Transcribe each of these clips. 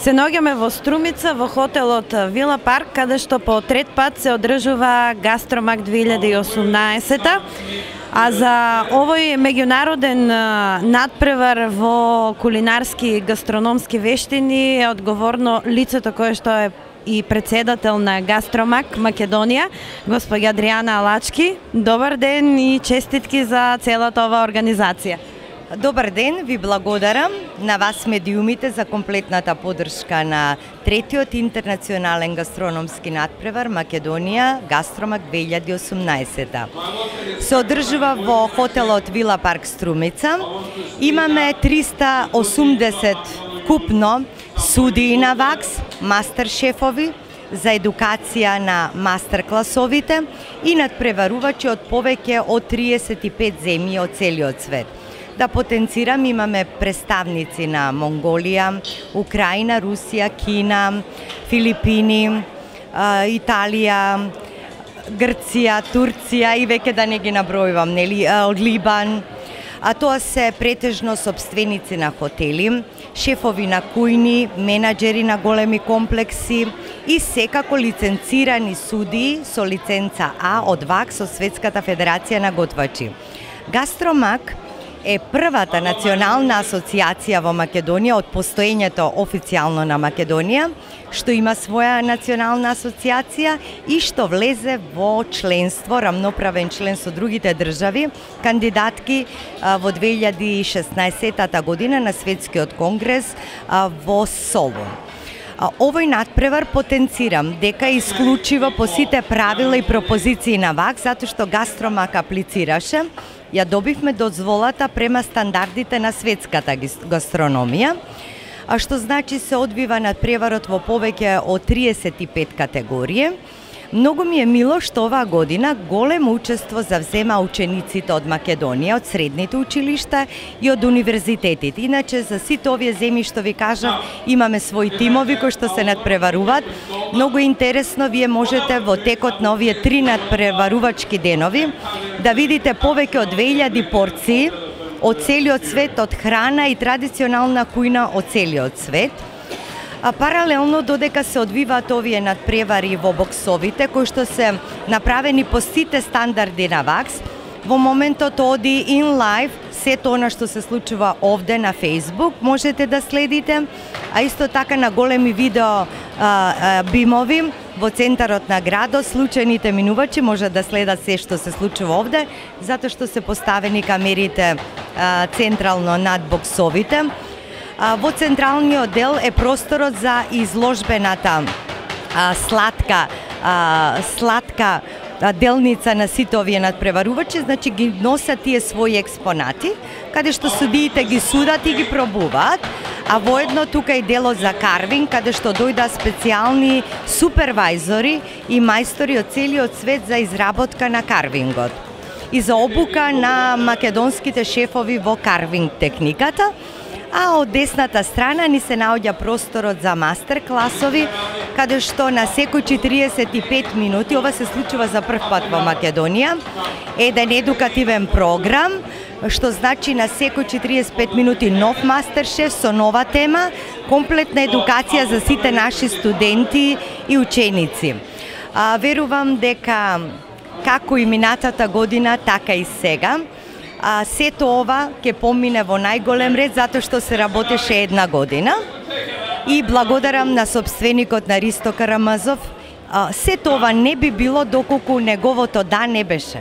Се наоѓаме во Струмица, во хотелот Вила Парк, каде што по трет пат се одржува Гастромак 2018, а за овој меѓународен надпревар во кулинарски и гастрономски вештини е одговорно лицето кое што е и председател на Гастромак Македонија, госпоѓа Адријана Алачки. Добар ден и честитки за целата оваа организација. Добар ден, ви благодарам на вас медиумите за комплетната поддршка на третиот интернационален гастрономски надпревар Македонија Гастромак 2018. Се одржува во хотелот Вила Парк Струмица. Имаме 380 купно судии на ВАКС, мастер шефови за едукација на мастер класовите и надпреварувачи од повеќе од 35 земји од целиот свет. Да потенцирам, имаме представници на Монголија, Украина, Русија, Кина, Филипини, Италија, Грција, Турција и веќе да не ги набројувам, нели, од Либан. А тоа се претежно сопственици на хотели, шефови на кујни, менаџери на големи комплекси и секако лиценцирани судии со лиценца А од ВАКС, со Светската федерација на готвачи. Гастромак е првата национална асоциација во Македонија од постоењето официјално на Македонија, што има своја национална асоциација и што влезе во членство, рамноправен член со другите држави, кандидатки во 2016 година на Светскиот конгрес во Солун. Овој надпревар потенцирам дека исклучиво по сите правила и пропозиции на ВАКС, затоа што Гастромак аплицираше, ја добивме дозволата према стандардите на светската гастрономија, а што значи се одвива надпреварот во повеќе од 35 категории. Многу ми е мило што оваа година големо учество завзема учениците од Македонија, од средните училишта и од универзитетите. Иначе за сите овие земји што ви кажав, имаме своји тимови кои што се надпреваруваат. Многу интересно, вие можете во текот на овие 3 надпреварувачки денови да видите повеќе од 2000 порции од целиот свет, од храна и традиционална кујна од целиот свет. А паралелно додека се одвиваат овие надпревари во боксовите, кои што се направени по сите стандарди на ВАКС, во моментот оди in live сето она што се случува овде на Facebook, можете да следите, а исто така на големи видео бимови во центарот на градот, случајните минувачи може да следат се што се случува овде, затоа што се поставени камерите централно над боксовите. Во централниот дел е просторот за изложбената сладка делница на сите овие надпреварувачи, значи ги носат тие своји експонати, каде што судиите ги судат и ги пробуваат, а воедно тука и делот за карвинг, каде што дојда специјални супервајзори и мајстори од целиот свет за изработка на карвингот и за обука на македонските шефови во карвинг техниката. А од десната страна ни се наоѓа просторот за мастер класови, каде што на секој 45 минути, ова се случува за прв пат во Македонија, еден едукативен програм, што значи на секој 45 минути нов мастер шеф со нова тема, комплетна едукација за сите наши студенти и ученици. Верувам дека како и минатата година, така и сега, сето ова ќе помине во најголем ред затоа што се работеше една година и благодарам на собственикот на Ристо Карамазов. Сето ова не би било доколку неговото да не беше.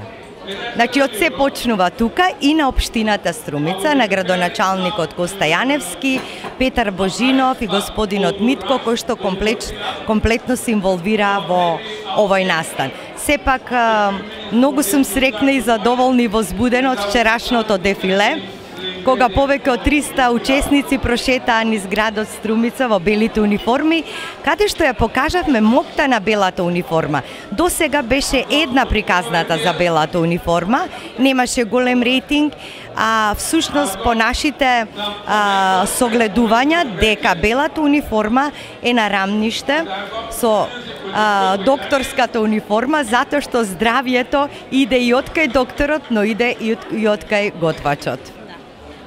Значи, од се почнува тука и на општината Струмица, на градоначалникот Коста Јаневски, Петар Божинов и господинот Митко, кој што комплетно се инволвира во овој настан. Сепак, многу сум срекна и задоволна и возбудена од вчерашното дефиле, кога повеќе од 300 учесници прошетаа низ градот Струмица во белите униформи, каде што ја покажавме моќта на белата униформа. До сега беше една приказната за белата униформа, немаше голем рейтинг, а всушност по нашите согледувања дека белата униформа е на рамниште со докторската униформа, затоа што здравието иде и од кај докторот, но иде и од кај готвачот.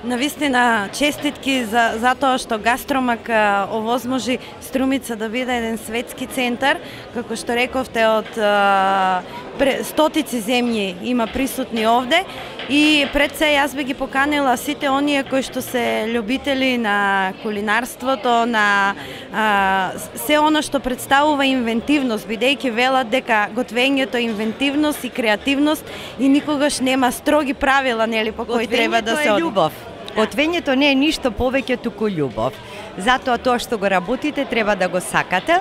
Навистина, честитки за тоа што Гастромак овозможи Струмица да биде еден светски центар, како што рековте, од стотици земји има присутни овде, и пред се јас би ги поканила сите оние кои што се љубители на кулинарството, на се оно што представува инвентивност, бидејќи велат дека готвењето е инвентивност и креативност и никогаш нема строги правила, нели, по кои треба да се оди. Готвењето не е ништо повеќе туку љубов. Затоа тоа што го работите треба да го сакате.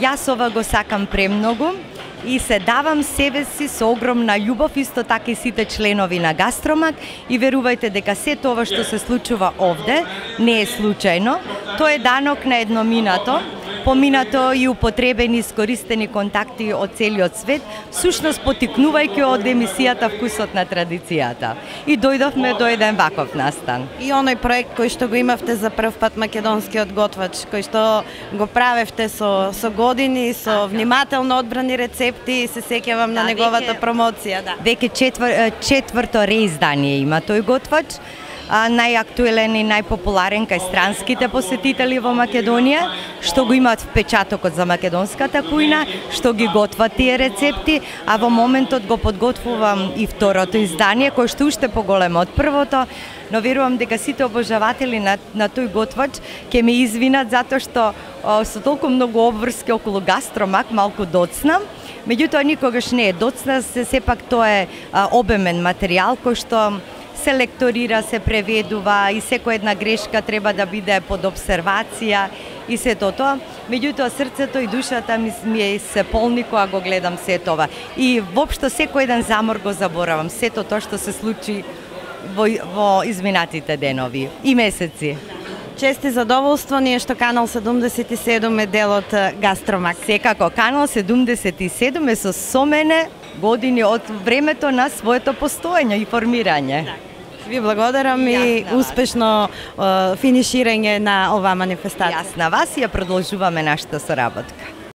Јас ова го сакам премногу и се давам себе си со огромна љубов, исто така и сите членови на Гастромак, и верувајте дека се тоа што се случува овде не е случајно. Тоа е данок на едноминато, поминато и употребени искористени контакти од целиот свет, сушност потикнувајќи од емисијата Вкусот на традицијата. И дојдовме до еден ваков настан. И оној проект кој што го имавте за прв пат, македонскиот готвач, кој што го правевте со години, со внимателно одбрани рецепти, се сеќавам на неговата промоција. Веќе четврто реиздание има тој готвач. Најактуелен и најпопуларен кај странските посетители во Македонија, што го имаат впечатокот за македонската кујна, што ги готват тие рецепти, а во моментот го подготвувам и второто издание, кој што уште поголемо од првото, но верувам дека сите обожаватели на тој готвач ќе ме извинат затоа што со толку многу обврски околу Гастромак малку доцнам. Меѓутоа никогаш не е доцна, сепак тоа е обемен материјал кој што се лекторира, се преведува и секоја една грешка треба да биде под обсервација и се тоа. Меѓутоа срцето и душата ми се полни кога го гледам се тоа. И воопшто секој еден замор го заборавам, сето тоа што се случи во изминатите денови и месеци. Чести задоволство ни е што Канал 77 е дел од Гастромак. Секако, Канал 77 е со мене години од времето на своето постоење и формирање. Ви благодарам и успешно финиширање на оваа манифестација. Јас на вас и ја продолжуваме нашата соработка.